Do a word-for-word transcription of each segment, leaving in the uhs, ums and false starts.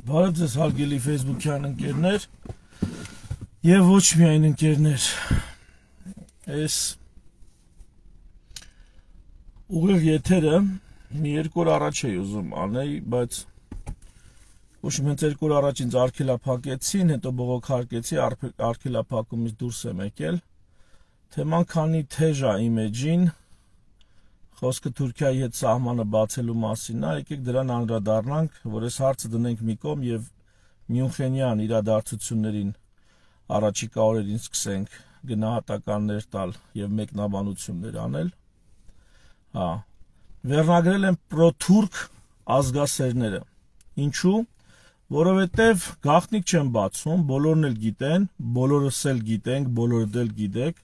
Բարև ձեզ հարգելի Facebook-յան ընկերներ եւ ոչ միայն ընկերներ։ Այս ուղիղ եթերը մի երկու օր առաջ էի ուզում անել, բայց ոչ միայն երկու օր առաջ ինձ արգելափակեցին, հետո բողոքարկեցի, արգելափակումից դուրս եմ եկել։ Թեման քանի թեժ է իմ էջին, խոսքը Թուրքիայի հետ սահմանը բացելու մասին է, եկեք դրան անդրադառնանք, որ այս հարցը դնենք մի կողմ եւ Մյունխենյան իրադարձություններին առաջիկա օրերին սկսենք գնահատականներ տալ եւ մեկնաբանություններ անել։ Հա, վերնագրել են պրոթուրք ազգասերները։ Ինչու՞։ Որովհետեւ գաղտնիք չեն բացում, բոլորն էլ գիտեն, բոլորս էլ գիտենք, բոլորդ էլ գիտեք,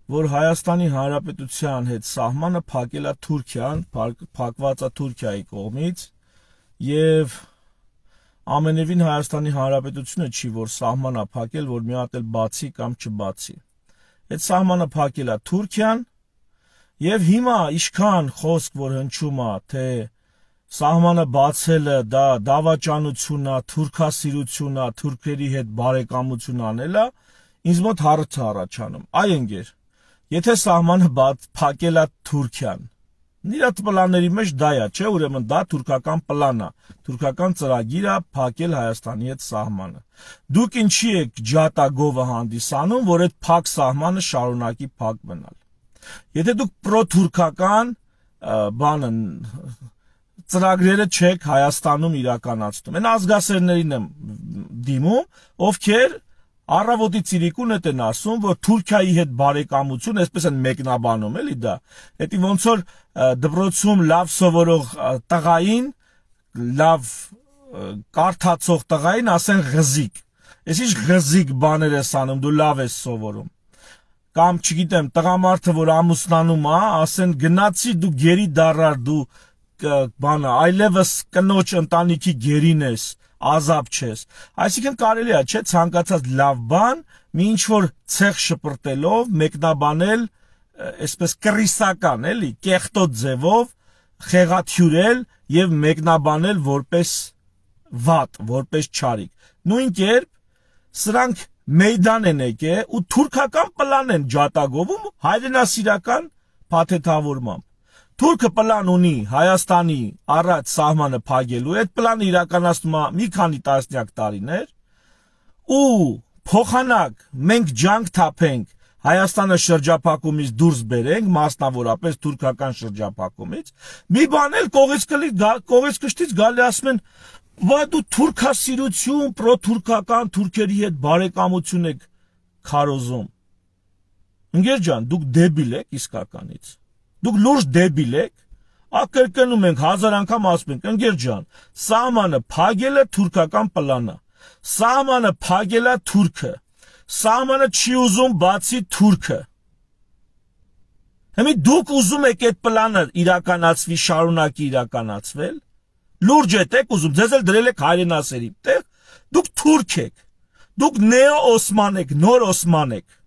որ Հայաստանի Հանրապետության հետ սահմանը փակել է Թուրքիան, փակված է Թուրքիայի կողմից եւ ամենևին Հայաստանի Հանրապետությունը չի, որ սահմանը փակել, որ մի հատ էլ բացի կամ չբացի։ Այդ սահմանը փակել է Թուրքիան եւ հիմա ինչքան խոսք որ հնչում է, թե սահմանը բացելը դա դավաճանություն է, թուրքասիրություն է, թուրքերի հետ բարեկամություն անելը, ինձ մոտ հարց է առաջանում։ Այ ընկեր, եթե սահմանը փակել է Թուրքիան, նրա պլանների մեջ դա է, չէ՞, ուրեմն դա թուրքական պլան է, թուրքական ծրագիր է փակել Հայաստանի հետ սահմանը։ Դուք ինչի եք ջատագովը հանդիսանում, որ այդ փակ սահմանը շարունակի փակ մնալ։ Եթե դուք պրոթուրքական բանը ծրագրերը չեք Հայաստանում իրականացնում, այն ազգասերներին եմ դիմում, ովքեր առավոտի ցիրիկուն են ասում, որ Թուրքիայի հետ բարեկամություն, այսպես են մեկնաբանում, էլի դա։ Հետի ոնց որ դպրոցում լավ սովորող տղային, լավ կարդացող տղային ասեն ղզիկ։ Այս ինչ ղզիկ բաներ ես անում, դու լավ ես սովորում։ Կամ չգիտեմ, տղամարդը, որ ամուսնանում է, ասեն գնացի դու գերի դառար, դու բանը, այլևս կնոջ ընտանիքի գերին ես, ազապ չես։ Այսինքն կարելի է, չէ, ցանկացած լավ բան մի ինչ որ ցեղ շպրտելով մեկնաբանել, այսպես կռիսական, էլի, կեղտոտ ձևով խեղաթյուրել եւ մեկնաբանել որպես վատ, որպես չարիք։ Նույն կերպ սրանք մեյդան են եկել ու թուրքական պլան են ջատագովում հայրենասիրական փաթեթավորմամբ։ Թուրքը պլան ունի Հայաստանի առաջ սահմանը փակելու, այդ պլանը իրականացնում է մի քանի տասնյակ տարիներ ու փոխանակ մենք ջանք թափենք Հայաստանը շրջափակումից դուրս բերենք, մասնավորապես թուրքական շրջափակումից, մի բան էլ կողից կողից կշտից գալի ասում են, «Վայ դու թուրքասիրություն, պրոթուրքական թուրքերի հետ բարեկամություն եք քարոզում»։ Ընկեր ջան, դուք դեբիլ եք իսկականից։ Դուք լուրջ դեբիլ եք, ակրկնում ենք հազար անգամ ասում ենք, ընկեր ջան, սահմանը փակելը թուրքական պլան է, սահմանը փակելը թուրքը, սահմանը չի ուզում բացի թուրքը։ Հիմա դուք ուզում եք այդ պլանը իրականացվի, շարունակի իրականացվել, լուրջ եք ուզում, ձեզ էլ դրել եք հայրենասերի տեղ, դուք թուրք եք, դուք նեո-օսման եք, նոր օսման եք։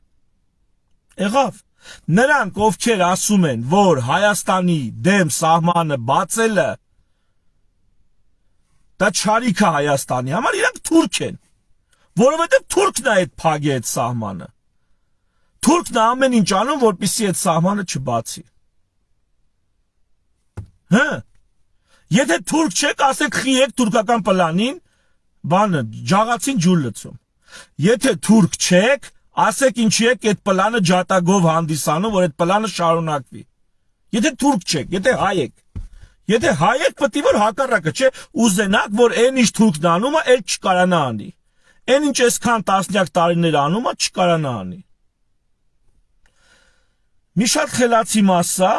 Եղավ։ Նրանք, ովքեր ասում են, որ Հայաստանի դեմ սահմանը բացելը դա չարիք է Հայաստանի համար, իրանք թուրք են, որովհետև թուրքն է այդ փակի այդ սահմանը։ Թուրքն է ամեն ինչ անում, որպեսզի այդ սահմանը չբացի։ Հա։ Եթե թուրք չեք, ասեք խի եք թուրքական պլանին, բանը ջաղացին ջուր լցում։ Եթե թուրք չեք, ասեք ինչի եք այդ պլանը ջատագով հանդիսանում, որ այդ պլանը շարունակվի։ Եթե թուրք չեք, եթե հայ եք, եթե հայ եք, պետք է որ հակառակը, չէ, ուզենաք, որ այն ինչ թուրքն անում է, էլ չկարանա անի։ Այն ինչ այսքան տասնյակ տարիներ անում է, չկարանա անի։ Մի շատ խելացի մասա,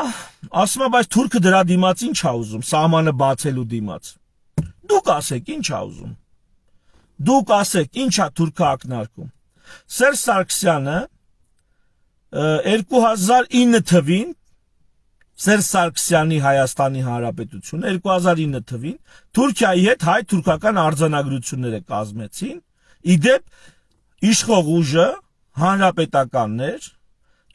ասում է, բայց թուրքը դրա դիմաց ինչ է ուզում, սահմանը բացելու դիմաց։ Դուք ասեք, ինչ է ուզում։ Դուք ասեք, ինչ է թուրքը ակնարկում։ Սերժ Սարգսյանը երկու հազար ինը թվին Սերժ Սարգսյանի Հայաստանի Հանրապետությունը երկու հազար ինը թվին Թուրքիայի հետ հայ-թուրքական արձանագրությունները կազմեցին, իդեպ իշխող ուժը հանրապետականներ,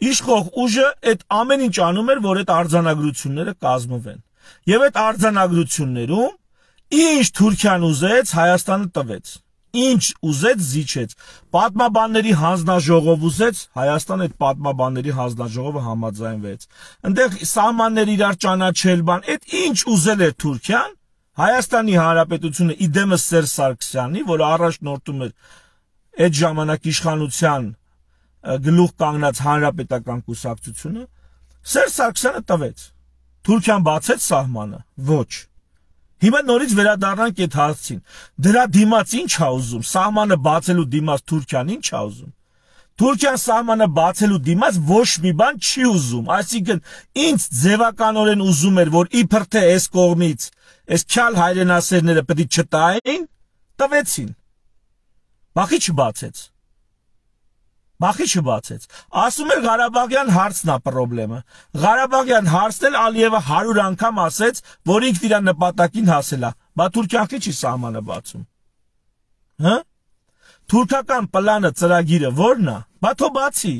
իշխող ուժը այդ ամեն ինչ անում էր, որ այդ արձանագրությունները կազմվեն։ Եվ այդ արձանագրություններում Ինչ Թուրքիան ուզեց, Հայաստանը տվեց։ Ինչ ուզեց, զիջեց։ Պատմաբանների հանձնաժողով ուզեց, Հայաստանը այդ պատմաբանների հանձնաժողովը համաձայնվեց։ Այնտեղ սահմաններ իրար ճանաչել բան, այդ ինչ ուզել էր Թուրքիան, Հայաստանի Հանրապետությունը իդեմս Սերժ Սարգսյանի, որը առաջնորդում էր այդ ժամանակ իշխանության գլուխ կանգնած հանրապետական կուսակցությունը, Սերժ Սարգսյանը տվեց։ Թուրքիան բացեց սահմանը, ոչ։ Հիմա նորից վերադառնանք այդ հարցին։ Դրա դիմաց ինչ ա ուզում, սահմանը բացելու դիմաց Թուրքիան ինչ ա ուզում։ Թուրքիան սահմանը բացելու դիմաց ոչ մի բան չի ուզում, այսինքն ինձ ձևականորեն ուզում էր, որ իբր թե այս կողմից այս քյալ հայրենասերները պետք է չտային, տվեցին։ Բախի չբացեց։ Բախի չբացեց։ Ասում էր Ղարաբաղյան հարցն է պրոբլեմը։ Ղարաբաղյան հարցն էլ Ալիևը հարյուր անգամ ասեց, որ ինքն իր նպատակին հասել է։ Բա Թուրքիան չի սահմանը բացում։ Հա? Թուրքական պլանը ծրագիրը ո՞րն է։ Բա թո բացի։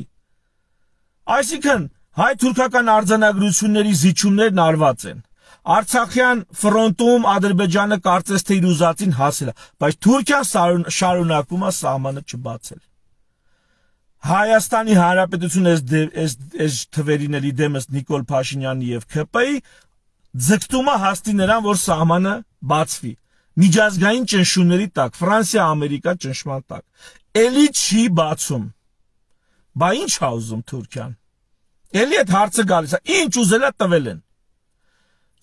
Այսինքն հայ-թուրքական արձանագրությունների զիջումներն արված են։ Արցախյան ֆրոնտում Ադրբեջանը կարծես թե իր ուզածին հասել է, բայց Թուրքիան շարունակում է սահմանը չբացել։ Հայաստանի Հանրապետությունը այս այս թվերին էլի դեմս Նիկոլ Փաշինյանի եւ K P I ձգտում է հաստի նրան, որ սահմանը բացվի։ Միջազգային ճնշումների տակ, Ֆրանսիա, Ամերիկա ճնշման տակ։ Էլի չի բացում։ Բա ինչ ա ուզում Թուրքիան։ Էլի այդ հարցը գալիս է, ինչ ուզել է տվել են։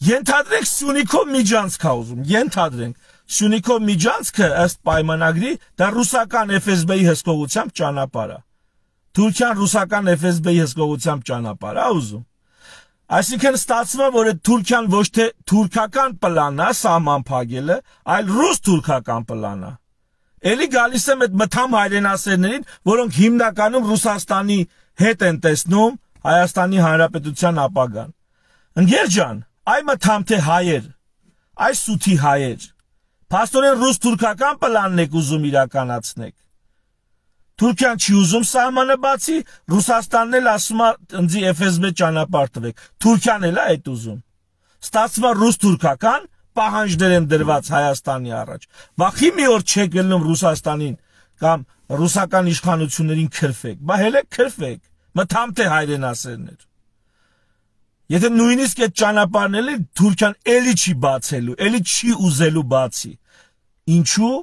Ենթադրենք Սյունիքով միջանցք ա ուզում, ենթադրենք Սյունիքով միջանցքը ըստ պայմանագրի դա ռուսական F S B-ի հսկողությամբ ճանապարհ է։ Թուրքիան ռուսական F S B-ի հսկողությամբ ճանապարհ է ուզում։ Այսինքն ստացվում է, որ Թուրքիան ոչ թե թուրքական պլան է սահման փակելը, այլ ռուս-թուրքական պլան է։ Էլի գալիս եմ այդ մթամ հայրենասերներին, որոնք հիմնականում Ռուսաստանի հետ են տեսնում Հայաստանի Հանրապետության ապագան։ Ընկեր ջան, այ մթամ թե հայեր, այ սութի հայեր։ Փաստորեն ռուս-թուրքական պլանն եք ուզում իրականացնեք։ Թուրքիան չի ուզում սահմանը բացի, Ռուսաստանն էլ ասում է ընձի F S B ճանապարհ տվեք։ Թուրքիան էլ է այդ ուզում։ Ստացվում է ռուս-թուրքական պահանջներ են դրված Հայաստանի առաջ։ Վախի մի օր չեք գնում Ռուսաստանին կամ ռուսական իշխանություններին քրֆեք, բա հենց քրֆեք, մթամ թե հայրենասերներ։ Եթե նույնիսկ այդ ճանապարհն էլ Թուրքիան էլի չի բացելու, էլի չի ուզելու բացի։ Ինչու՞։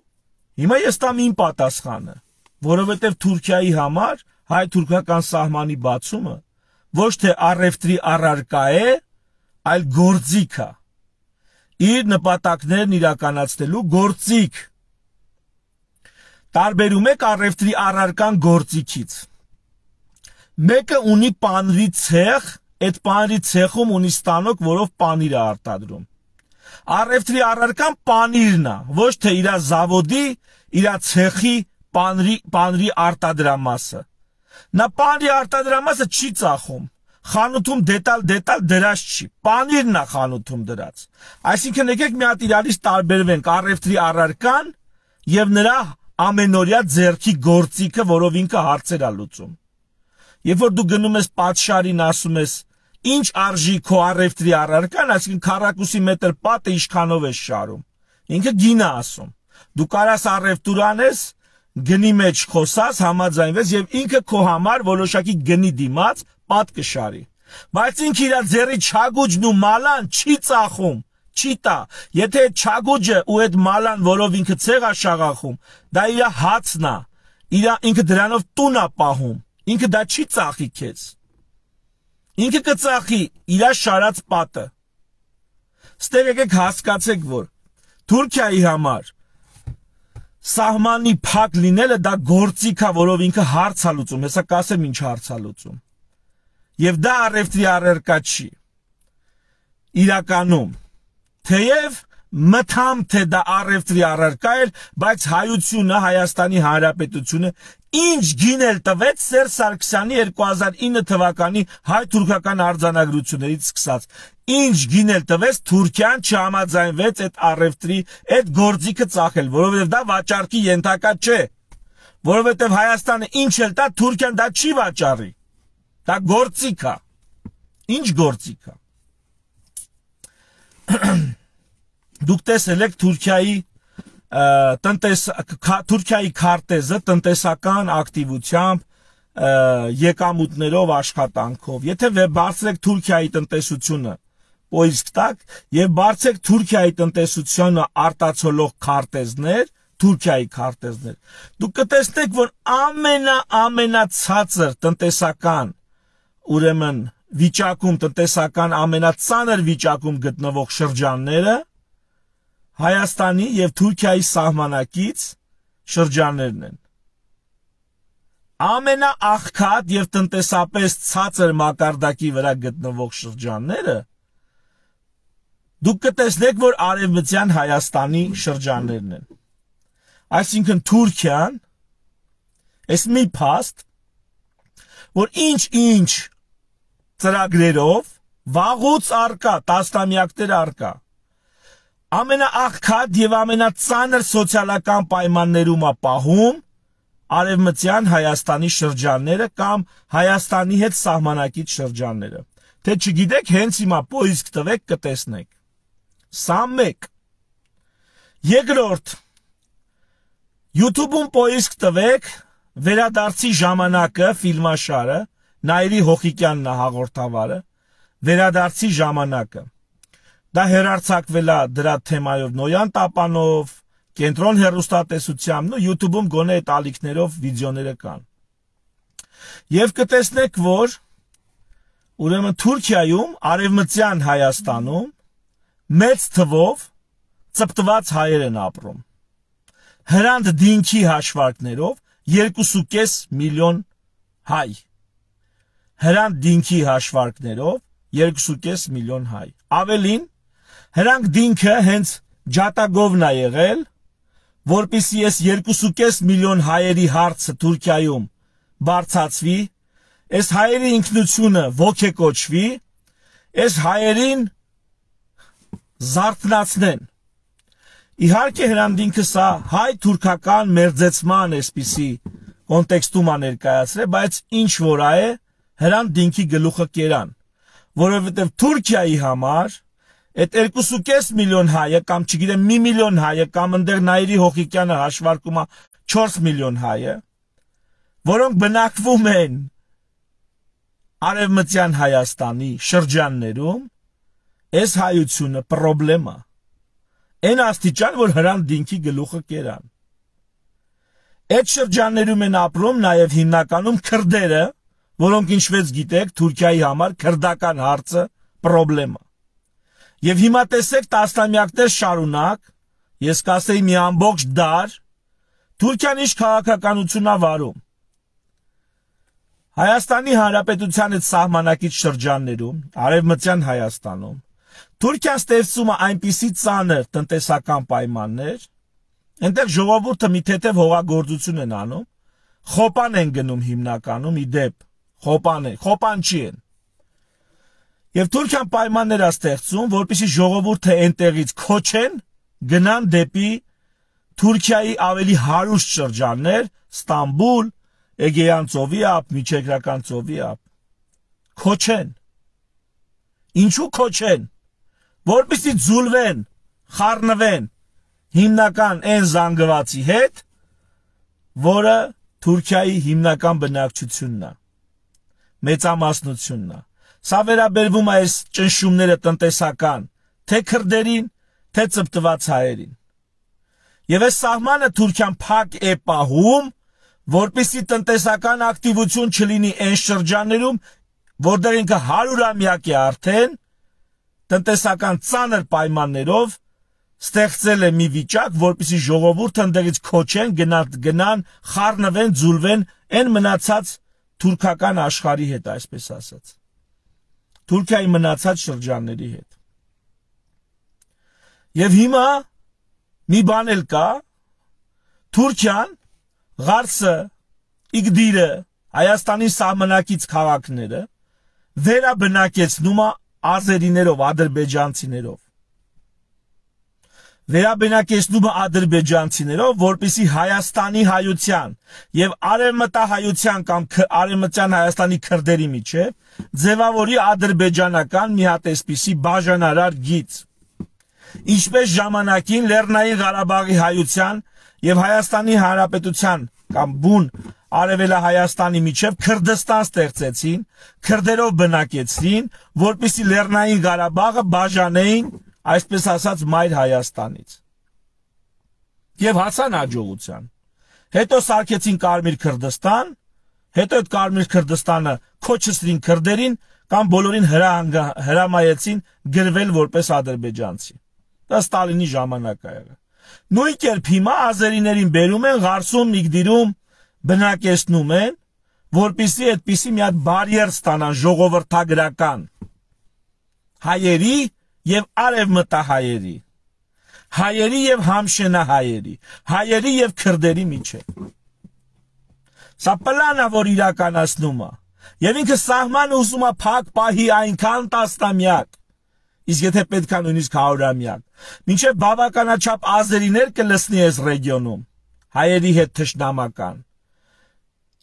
Հիմա ես տամ իմ պատասխանը, որովհետև Թուրքիայի համար հայ-թուրքական սահմանի բացումը ոչ թե առևտրի առարկա է, այլ գործիք է։ Իր նպատակներն իրականացնելու գործիք։ Տարբերում եք առևտրի առարկան գործիքից։ Մեկը ունի պանրի ցեխ, այդ պանրի ցեխում ունի ստանոկ, որով պանիր է արտադրում։ Առևտրի առարկան պանիրն է, ոչ թե իր զավոդի, իր ցեխի պանրի պանրի արտադրամասը։ Նա պանրի արտադրամասը չի ծախում։ Խանութում դետալ դետալ դրած չի։ Պանիրն է խանութում դրած։ Այսինքն եկեք մի հատ իրարից տարբերվենք առևտրի առարկան եւ նրա ամենօրյա ձեռքի գործիքը, որով ինքը հարցեր է լուծում։ Երբ որ դու գնում ես պատշարին, ասում ես ինչ արժի քո առևտրի առարկան, այսինքն քառակուսի մետր պատը ինչքանով ես շարում։ Ինքը գինը ասում։ Դու կարաս առևտուր անես, գնի մեջ խոսած, համաձայնվես եւ ինքը քո համար որոշակի գնի դիմաց պատ կշարի։ Բայց ինքը իր ձեռի չագուջն ու մալան չի ծախում, չի տա։ Եթե չագուջը ու այդ մալան, որով ինքը ցեղ է շաղախում, դա իր հացն է, իր ինքը դրանով տուն է պահում, ինքը դա չի ծախի քեզ։ Ինքը կծախի իր շարած պատը։ Ստեղ եկեք հասկացեք, որ Թուրքիայի համար սահմանի փակ լինելը դա գործիք է, որով ինքը հարց է լուծում, հեսա կասեմ ինչ հարց է լուծում։ Եվ դա առևտրի առարկա չի։ Իրականում, թեև մթամ թե դա առևտրի առարկա էր, բայց հայությունը, Հայաստանի Հանրապետությունը ինչ գինել տվեց Սերժ Սարգսյանի երկու հազար ինը թվականի հայ-թուրքական արձանագրություններից սկսած։ Ինչ գինել տվեց Թուրքիան չհամաձայնվեց այդ առևտրի, այդ գործիքը ծախել, որովհետև դա վաճառքի ենթակա չէ։ Որովհետև Հայաստանը ինչ էլ տա, Թուրքիան դա չի վաճառի։ Դա գործիք է։ Ինչ գործիք է։ դուք տեսել եք Թուրքիայի տնտես Թուրքիայի քարտեզը տնտեսական ակտիվությամբ եկամուտներով աշխատանքով եթե բարձրեք Թուրքիայի տնտեսությունը պոիսկ տակ եւ բարձրեք Թուրքիայի տնտեսությունը արտացոլող քարտեզներ Թուրքիայի քարտեզներ դուք կտեսնեք որ ամենա ամենացածր տնտեսական ուրեմն վիճակում տնտեսական ամենածանր վիճակում գտնվող շրջանները Հայաստանի եւ Թուրքիայի սահմանակից շրջաններն են ամենաաղքատ եւ տնտեսապես ցածր մակարդակի վրա գտնվող շրջանները դուք կտեսնեք որ արևմտյան Հայաստանի շրջաններն են այսինքն Թուրքիան այս մի փաստ որ ինչ-ինչ ծրագրերով վաղուց արկա տասնամյակներ արկա ամենաաղքատ եւ ամենածանր սոցիալական պայմաններում է պահում արևմտյան Հայաստանի շրջանները կամ Հայաստանի հետ սահմանակից շրջանները թե չգիտեք հենց հիմա պոիսկ տվեք կտեսնեք սա մեկ երկրորդ YouTube-ում պոիսկ տվեք վերադարձի ժամանակը ֆիլմաշարը Նայիրի Հոխիկյանն է հաղորդավարը վերադարձի ժամանակը դա հերարցակվել է դրա թեմայով Նոյան Տապանով կենտրոն հեռուստատեսությամբ ու YouTube-ում գոնե այդ ալիքներով վիդեոները կան եւ կտեսնեք որ ուրեմն Թուրքիայում արևմտյան Հայաստանում մեծ թվով ծպտված հայեր են ապրում հրանտ դինքի հաշվարկներով երկու կես միլիոն հայ հրանտ դինքի հաշվարկներով երկու կես միլիոն հայ ավելին հրանք դինքը հենց ջատագովն է եղել որպեսզի այս երկու կես միլիոն հայերի հարցը Թուրքիայում բարձրացվի այս հայերի ինքնությունը ոգեկոչվի այս հայերին զարթնացնեն իհարկե հրանտինքը սա հայ-թուրքական մերձեցման այսպիսի կոնտեքստում է ներկայացրել բայց ինչ որ է հրանտինքի գլուխը կերան որովհետև Թուրքիայի համար այդ երկու կես միլիոն հայը կամ չգիտեմ մի միլիոն հայը կամ ընդեղ Նայիրի Հոխիկյանը հաշվարկում է չորս միլիոն հայը որոնք բնակվում են արևմտյան Հայաստանի շրջաններում այս հայությունը պրոբլեմ է այն աստիճան որ հրանտ դինքի գլուխը կերան այդ շրջաններում են ապրում նաև հիմնականում քրդերը որոնք ինչպես գիտեք Թուրքիայի համար քրդական հարցը պրոբլեմ է Եվ հիմա տեսեք տասնամյակներ շարունակ, ես կասեի մի ամբողջ դար, Թուրքիան ինչ քաղաքականություն է վարում։ Հայաստանի Հանրապետության այդ սահմանակից շրջաններում, արևմտյան Հայաստանում, Թուրքիան ստեղծում է այնպիսի ծանր տնտեսական պայմաններ, այնտեղ ժողովուրդը մի թեթև հողագործություն են անում, խոպան են գնում հիմնականում, ի դեպ, խոպան են, խոպանչի են։ Եվ Թուրքիան պայմաններ է ստեղծում, որպեսզի ժողովուրդը այնտեղից քոչեն, գնան դեպի Թուրքիայի ավելի հարուստ շրջաններ, Ստամբուլ, Էգեյան ծովի ափ, Միջերկրական ծովի ափ։ Քոչեն։ Ինչու քոչեն։ Որպեսզի ձուլվեն, խառնվեն հիմնական այն զանգվածի հետ, որը Թուրքիայի հիմնական բնակչությունն է, մեծամասնությունն է։ Սա վերաբերվում է այս ճնշումները տնտեսական, թե քրդերին, թե ծպտված հայերին։ Եվ այս սահմանը Թուրքիան փակ է պահում, որպեսզի տնտեսական ակտիվություն չլինի այն շրջաններում, որտեղ ինքը հարյուրամյակ է արդեն, տնտեսական ծանր պայմաններով ստեղծել է մի վիճակ, որպեսզի ժողովուրդը ընդդեղից քոչեն, գնան, գնան, խառնվեն, ձուլվեն այն մնացած թուրքական աշխարհի հետ, այսպես ասած։ Թուրքիայի մնացած շրջանների հետ։ Եվ հիմա մի բան էլ կա, Թուրքիան Ղարսը, Իգդիրը, Հայաստանի սահմանակից քաղաքները վերաբնակեցնում է ազերիներով, ադրբեջանցիներով։ Վերաբնակեցնում է ադրբեջանցիներով, որպեսզի Հայաստանի հայության եւ արևմտահայության կամ արևմտյան Հայաստանի քրդերի միջեւ ձևավորի ադրբեջանական մի հատ էսպիսի բաժանարար գիծ։ ինչպես ժամանակին Լեռնային Ղարաբաղի հայության եւ Հայաստանի Հանրապետության կամ բուն Արևելահայաստանի միջև Քրդստան ստեղծեցին, քրդերով բնակեցրին, որպեսզի Լեռնային Ղարաբաղը բաժանեին, այսպես ասած, Մայր Հայաստանից։ Եվ հասան հաջողության։ Հետո սարքեցին Կարմիր Քրդստան, հետո այդ Կարմիր Քրդստանը քոչեցրին քրդերին կամ բոլորին հրամայեցին գրվել որպես ադրբեջանցի։ Դա Ստալինի ժամանակ է եղել։ Նույն կերպ հիմա ազերիներին բերում են, Ղարսում, Միգդիրում բնակեցնում են, որպեսզի այդպիսի մի հատ բարիեր ստանան ժողովրդագրական հայերի եւ արևմտահայերի, հայերի եւ համշենահայերի, հայերի եւ քրդերի միջեւ։ Սա պլանա, որ իրականացնում է, եւ ինքը սահմանը ուզում է փակ պահի այնքան տասնամյակ, իսկ եթե պետք է նույնիսկ հարյուրամյակ, մինչեւ բավականաչափ ազերիներ կլսնի այս ռեգիոնում, հայերի հետ թշնամական,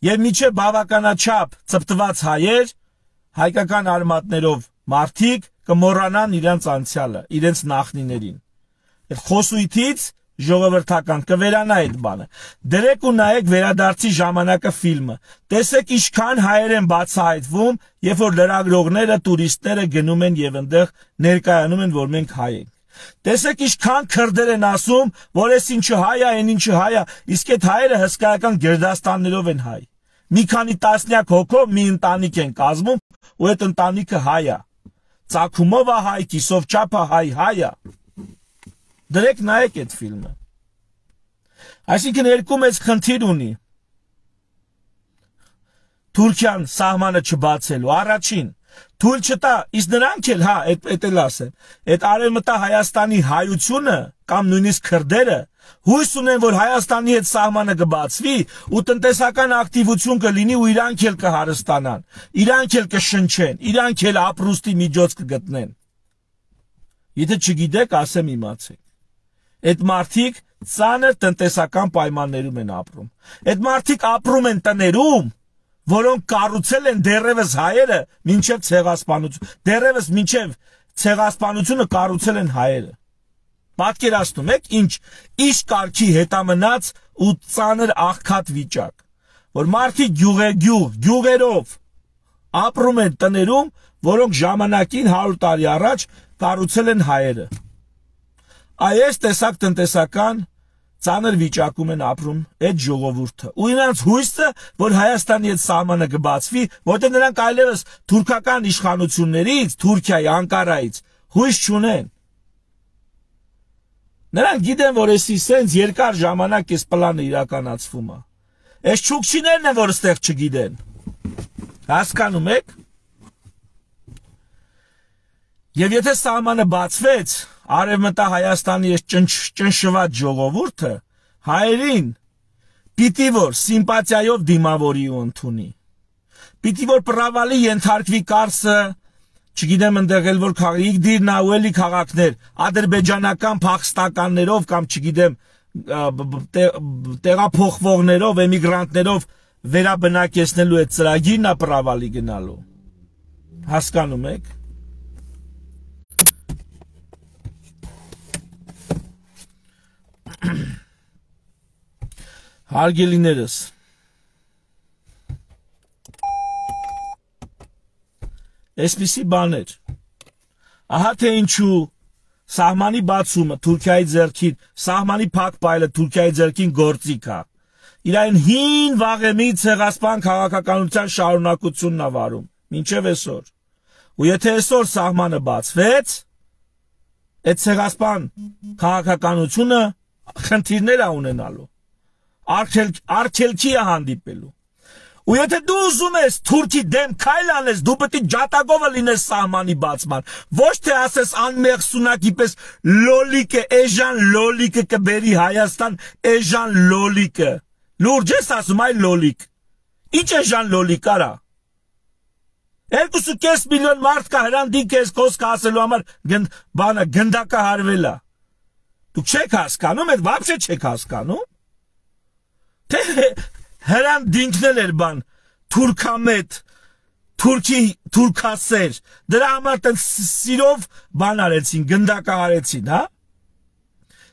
եւ մինչեւ բավականաչափ ծպտված հայեր, հայկական արմատներով մարդիկ կմոռանան իրենց անցյալը, իրենց նախնիներին։ Այդ խոսույթից ժողովրդական կվերանա այդ բանը։ Դրեք ու նայեք Վերադարձի ժամանակը ֆիլմը։ Տեսեք ինչքան հայեր են բացահայտվում, երբ որ լրագրողները, տուրիստները գնում են եւ այնտեղ ներկայանում են, որ մենք հայ ենք։ Տեսեք ինչքան քրդեր են ասում, որ այս ինչը հայ է, այն ինչը հայ է, իսկ այդ հայերը հսկայական գերդաստաններով են հայ։ Մի քանի տասնյակ հոգով մի ընտանիք են կազմում, ու այդ ընտանիքը հայ է։ Ծագումով է հայ, կիսով չափը հայ, հայ է։ Դրեք նայեք այդ ֆիլմը։ Այսինքն երկու մեծ խնդիր ունի Թուրքիան սահմանը չբացելու։ Առաջին, թույլ չտա, իսկ նրանք էլ, հա, այդ էլ ասեմ, այդ արևմտա Հայաստանի հայությունը կամ նույնիսկ քրդերը հույս ունեն, որ Հայաստանի հետ սահմանը կբացվի ու տնտեսական ակտիվություն կլինի ու իրանք էլ կհարստանան, իրանք էլ կշնչեն, իրանք էլ ապրուստի միջոց կգտնեն։ Եթե չգիտեք, ասեմ իմացեք։ Այդ մարդիկ ծանր տնտեսական պայմաններում են ապրում։ Այդ մարդիկ ապրում են տներում, որոնք կառուցել են դեռևս հայերը մինչև ցեղասպանություն, դեռևս մինչև ցեղասպանությունը կառուցել են հայերը։ Պատկերացնում եք ինչ ինչ կարգի հետամնաց ու ծանր աղքատ վիճակ, որ մարդիկ գյուղեգյուղ, գյուղերով ապրում են տներում, որոնք ժամանակին հարյուր տարի առաջ կառուցել են հայերը։ Այս տեսակ տնտեսական ծանր վիճակում են ապրում այդ ժողովուրդը։ Ու նրանց հույսը, որ Հայաստանի հետ սահմանը կբացվի, որտեղ նրանք այլևս թուրքական իշխանություններից, Թուրքիայի, Անկարայից հույս չունեն։ Նրանք գիտեն, որ էսի սենց երկար ժամանակ այս պլանը իրականացվում է։ Այս չուկչիներն են, որ այստեղ չգիտեն։ Հասկանում եք։ Եվ եթե սահմանը բացվեց, Արևմտա Հայաստանի այս ճնշված ժողովուրդը հայերին պիտի որ սիմպաթիայով դիմավորի ու ընդունի։ Պիտի որ պրավալի ենթարկվի Կարսը, չգիտեմ ընդեղ էլ որ Իգդիրն ու էլի քաղաքներ, ադրբեջանական փախստականներով կամ չգիտեմ տեղափոխվողներով, էմիգրանտներով վերաբնակեցնելու այդ ծրագիրն է պրավալի գնալու։ Հասկանում եք։ Հարգելիներս, այսպիսի բաներ, ահա թե ինչու սահմանի բացումը Թուրքիայի ձեռքին, սահմանի փակ պայելը Թուրքիայի ձեռքին գործիք է, իրային հին վաղեմի ցեղասպան քաղաքականության շարունակությունն է վարում, մինչև այսօր, ու եթե այսօր սահմանը բացվեց, այդ ցեղասպան քաղաքականությունը խնդիրներ է ունենալու, արգելքի է հանդիպելու։ Ու եթե դու ուզում ես Թուրքի դեմ քայլ անես, դու պետք է ջատագովը լինես սահմանի բացման, ոչ թե ասես անմեղ սունակի պես լոլիկը, էժան լոլիկը կբերի Հայաստան, էժան լոլիկը։ Լուրջ ես ասում, այ լոլիկ։ Ինչ էժան լոլիկ արա։ Երկու ու կես միլիոն մարդ կա հրանտին քեզ խոսք ասելու համար բանը գնդակահարվել է։ Դուք չեք հասկանում, այդ վաբշե չեք հասկանում։ Թե հրան դինքնել էր բան, թուրքամետ, թուրքի, թուրքասեր, դրա համար տենց սիրով բան արեցին, գնդակահարեցին, հա,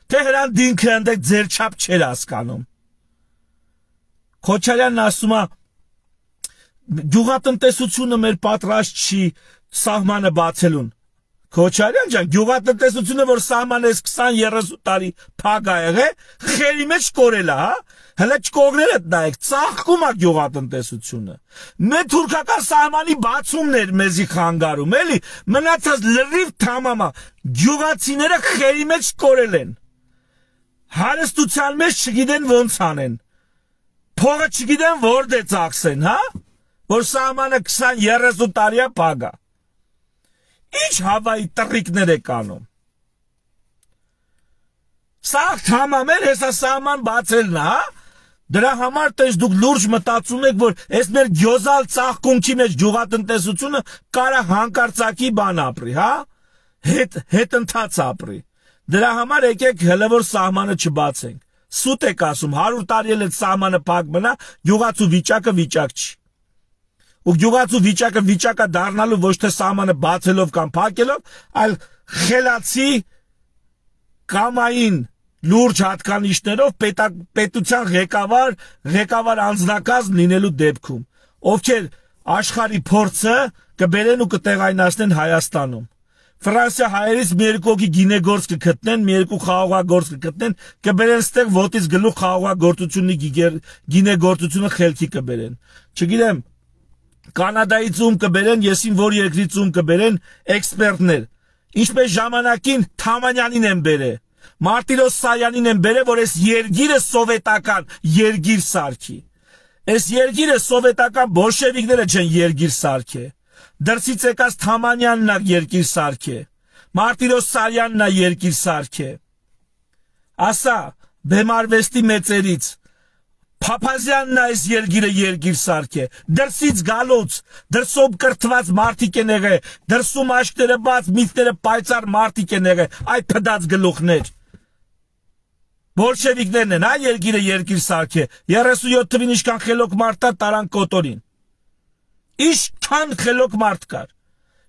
թե հրան դինքը ընդեք ձեր չափ չեր հասկանում։ Քոչարյանն ասում է գյուղատնտեսությունը մեր պատրաստ չի սահմանը բացելուն։ Քոչարյան ջան, գյուղատնտեսությունը, որ սահմանը քսան երեսուն տարի փակ ա եղել, խերի մեջ կորել է, հա։ Հələ չկողներդ նայեք, ծաղկում է գյուղատնտեսությունը։ Մեր թուրքական սահմանի բացումն էր մեզի խանգարում, էլի, մնացած լրիվ թամամա, գյուղացիները խերի մեջ կորել են։ Հարստության մեջ չգիտեն ոնց անեն։ Փողը չգիտեն որտե ծախսեն, հա։ Որ սահմանը քսան երեսուն տարի է փակ է։ Ինչ հավայի տրիկներ եք անում։ Սա թամամեր հեսա սահման բացելն է, հա։ Դրա համար տես դուք լուրջ մտածում եք, որ այս մեր գյոզալ ծաղկունքի մեջ գյուղատնտեսությունը կարա հանկարծակի բան ապրի, հա։ Հետ հետ ընթաց ապրի։ Դրա համար եկեք հələ որ սահմանը չբացենք։ Սուտ եք ասում, հարյուր տարի էլ այդ սահմանը փակ մնա, գյուղացու վիճակը վիճակ չի։ Ու գյուղացու վիճակը վիճակա դառնալու ոչ թե սահմանը բացելով կամ փակելով, այլ խելացի կամային լուրջ հատկանիշներով պետության ղեկավար, ղեկավար անձնակազմ լինելու դեպքում, ովքեր աշխարհի փորձը կբերեն ու կտեղայնացնեն Հայաստանում։ Ֆրանսիա հայերից մի երկու հոգի գինեգործ կգտնեն, մի երկու խաղողագործ կգտնեն, կբերեն ստեղ ոտից գլուխ խաղողագործությունի գինեգործությունը խելքի կբերեն։ Չգիտեմ, Կանադայից ում կբերեն, եսին որ երկրից ում կբերեն էքսպերտներ։ Ինչպես ժամանակին Թամանյանին են բերել, Մարտիրոս Սարյանին են բերել, որ այս երգիրը սովետական երգիր սարքի։ Այս երգիրը սովետական բոլշևիկները չեն երգիր սարքե։ Դրսից եկած Թամանյանն է երգիր սարքե։ Մարտիրոս Սարյանն է երգիր սարքե։ Ասա բեմարվեստի մեծերից Փափազյանն այս երգիրը երգիր սարքե, դրսից գալոց, դրսում կրթված մարդիկ են եղել, դրսում աշկները բաց, միտքները պայծառ մարդիկ են եղել, այ փդած գլուխներ։ Բոլշևիկներն են, այ երգիրը երգիր սարքե, երեսունյոթ թվին ինչքան խելոք մարդ կար տարան կոտորին։ Ինչքան խելոք մարդ կար։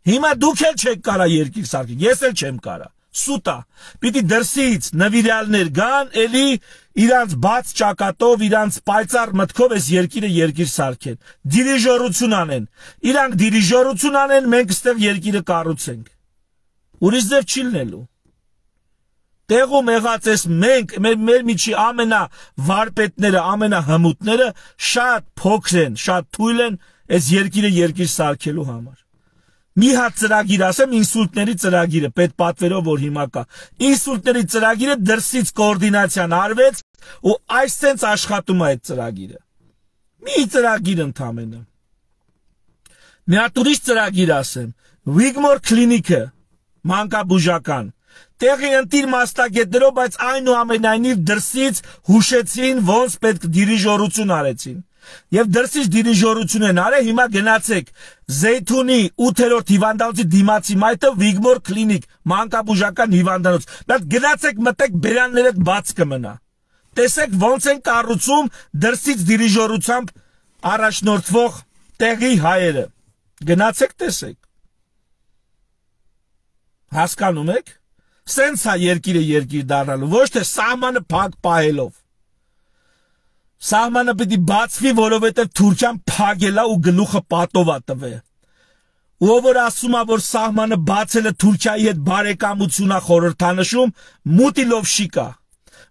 Հիմա դուք էլ չեք կարա երգիր սարքել, ես էլ չեմ կարա։ Սուտա, պիտի դրսից նվիրյալներ գան, էլի իրանց բաց ճակատով, իրանց պայծառ մտքով այս երկիրը երկիր սարքեն, դիրիժորություն անեն, իրանք դիրիժորություն անեն, մենք ստեղ երկիրը կառուցենք, ուրիշ ձև չի լինելու, տեղում եղած ես մենք, մեր, մեր միջի ամենա վարպետները, ամենա հմուտները շատ փոքր են, շատ թույլ են այս երկիրը երկիր սարքելու համար։ Մի հատ ծրագիր ասեմ, ինսուլտների ծրագիրը, պետ պատվերով որ հիմա կա, ինսուլտների ծրագիրը դրսից կոորդինացիան արվեց ու այսպես աշխատում է այդ ծրագիրը։ Մի ծրագիր ընդամենը։ Մի հատ ուրիշ ծրագիր ասեմ, Wigmore Clinic-ը, մանկաբուժական, տեղի ընտիր մասնագետներով, բայց այնուամենայնիվ դրսից հուշեցին, ոնց պետք դիրիժորություն արեցին։ Եվ դրսից դիրիժորություն են արել, հիմա գնացեք Զեյթունի ութերորդ հիվանդանոցի դիմացի մայթը Wigmore Clinic, մանկաբուժական հիվանդանոց։ Բայց գնացեք մտեք բերաններդ բաց կմնա։ Տեսեք ոնց են կառուցում դրսից դիրիժորությամբ առաջնորդվող տեղի հայերը։ Գնացեք տեսեք։ Հասկանում եք։ Սենց է երկիրը երկիր դառնալու, ոչ թե սահմանը փակ պահելով։ Սահմանը պիտի բացվի, որովհետև Թուրքիան փագել է ու գլուխը պատով է տվել։ Ով որ ասում է, որ սահմանը բացելը Թուրքիայի հետ բարեկամություն է խորհրդանշում, մուտիլովշիկ է,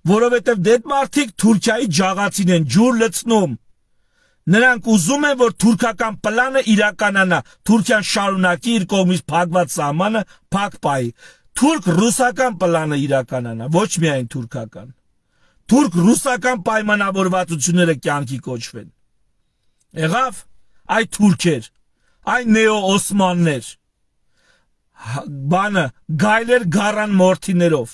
որովհետև դեդ մարդիկ Թուրքիայի ջաղացին են, ջուր լցնում։ Նրանք ուզում են, որ թուրքական պլանը իրականանա, Թուրքիան շարունակի իր կողմից փակված սահմանը փակ պահի։ Թուրք-ռուսական պլանը իրականանա, ոչ միայն թուրքական։ Թուրք-ռուսական պայմանավորվածությունները կյանքի կոչվեն։ Եղավ այ թուրքեր, այ նեո-օսմաններ, բանը գայլեր գառան մորթիներով։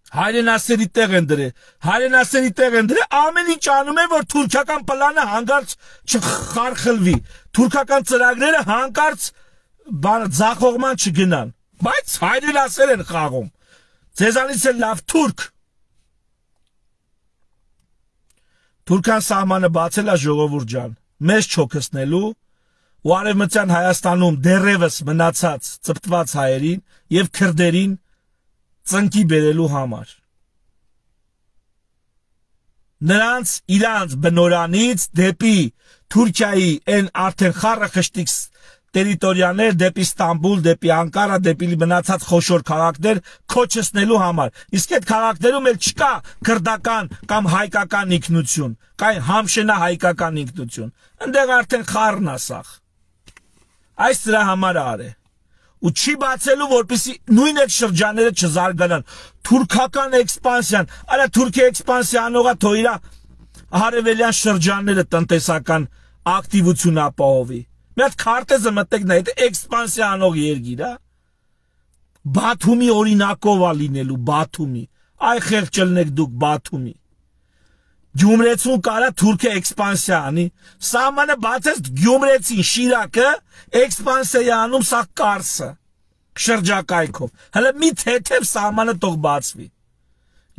Հայրենասերի տեղ են դրել, հայրենասերի տեղ են դրել, ամեն ինչ անում են, որ թուրքական պլանը հանկարծ չխարխլվի, թուրքական ծրագրերը հանկարծ ձախողման չգնան, բայց հայրենասեր են խաղում, ձեզանից է լավ թուրք։ Թուրքան սահմանը բացել է ժողովուրդ ջան, մեզ չոքսնելու ու արևմտյան Հայաստանում դեռևս մնացած ծպտված հայերին եւ քրդերին ծնկի բերելու համար։ Նրանց իրանց բնորանից դեպի Թուրքիայի են արդեն խառը խշտիկ տերիտորիաներ, դեպի Ստամբուլ, դեպի Անկարա, դեպի մնացած խոշոր քաղաքներ քոչեցնելու համար։ Իսկ այդ քաղաքներում էլ չկա քրդական կամ հայկական ինքնություն, կա համշենա հայկական ինքնություն։ Այնտեղ արդեն խառն է սաղ։ Այս դրա համար արե։ Ու չի բացելու, որպեսզի նույն այդ շրջանները չզարգանան։ Թուրքական էքսպանսիան, արա Թուրքիա էքսպանսիա անողա թող իր հարևելյան շրջանները տնտեսական ակտիվություն ապահովի։ Մի հատ քարտեզը մտեք նայեք, էքսպանսիա անող երկիր է։ Բաթումի օրինակով է լինելու, Բաթումի։ Այ խեղճ ելնեք դուք Բաթումի։ Գյումրեցուն կարա Թուրքիա էքսպանսիա անի, սահմանը բացես Գյումրեցին Շիրակը էքսպանսիա անում սա Կարսը շրջակայքով։ Հələ մի թեթև սահմանը թող բացվի։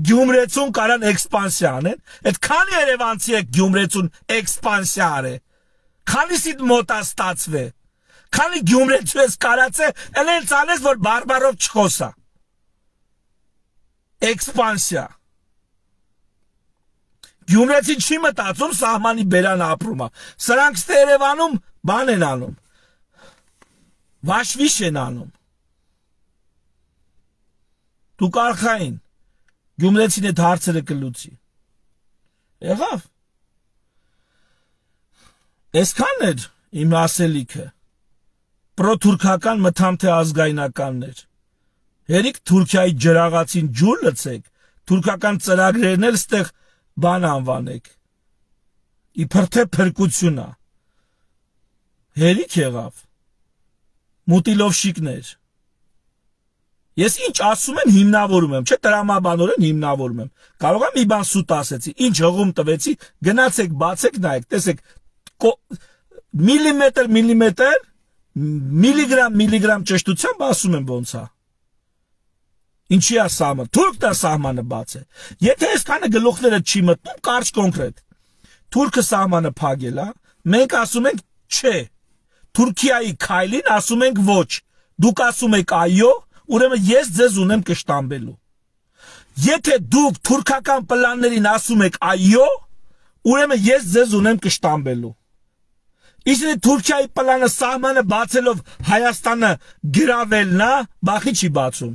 Գյումրեցուն կարան էքսպանսիա անեն, այդ քանի երևանցի է Գյումրեցուն էքսպանսիա արե։ Քանիսիդ մոտ է ստացվե։ Քանի Գյումրեցու ես կարացե, էլ էլ ցանես որ բարբարով չխոսա։ Էքսպանսիա։ Գյումրեցին չի մտածում սահմանի բերան ապրում է։ Սրանք ստե Երևանում բան են անում։ Վաշվիշ են անում։ Դու կարխային Գյումրեցին այդ հարցերը կլուծի։ Եղավ։ Այսքան էր իմ ասելիքը։ Պրոթուրքական մթամ թե ազգայնականներ։ Հերիք Թուրքիայի ջրաղացին ջուր լցեք, թուրքական ծրագրերն էլ ստեղ բան անվանեք, իբր թե փրկություն է, հերիք եղավ, մուտիլովշիկներ, ես ինչ ասում եմ հիմնավորում եմ, չէ տրամաբանորեն հիմնավորում եմ, կարող եմ մի բան սուտ ասեցի, ինչ հղում տվեցի, գնացեք, բացեք, նայեք, տեսեք, միլիմետր, միլիմետր, միլիգրամ, միլիգրամ ճշտությամբ ասում եմ ոնց է, ինչի է սահմանը, թուրքն է սահմանը բաց է, եթե այսքանը գլուխները չի մտնում, կարճ կոնկրետ, թուրքը սահմանը փակել է, մենք ասում ենք չէ, Թուրքիայի քայլին ասում ենք ոչ, դուք ասում եք այո, ուրեմն ես ձեզ ունեմ կշտամբելու, եթե դուք թուրքական պլաններին ասում եք այո, ուրեմն ես ձեզ ունեմ կշտամբելու, իսկ Թուրքիայի պլանը սահմանը բացելով Հայաստանը գրավելն է, բախի չի բացում,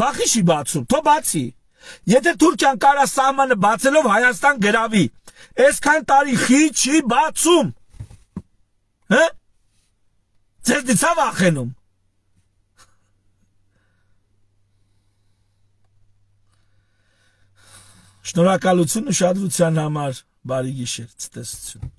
բախի չի բացում, թո բացի, եթե Թուրքիան կարա սահմանը բացելով Հայաստան գրավի, այսքան տարի խի չի բացում, հը, ձեզ դիցա վախենում, շնորհակալություն ուշադրության համար, բարի գիշեր, ցտեսություն։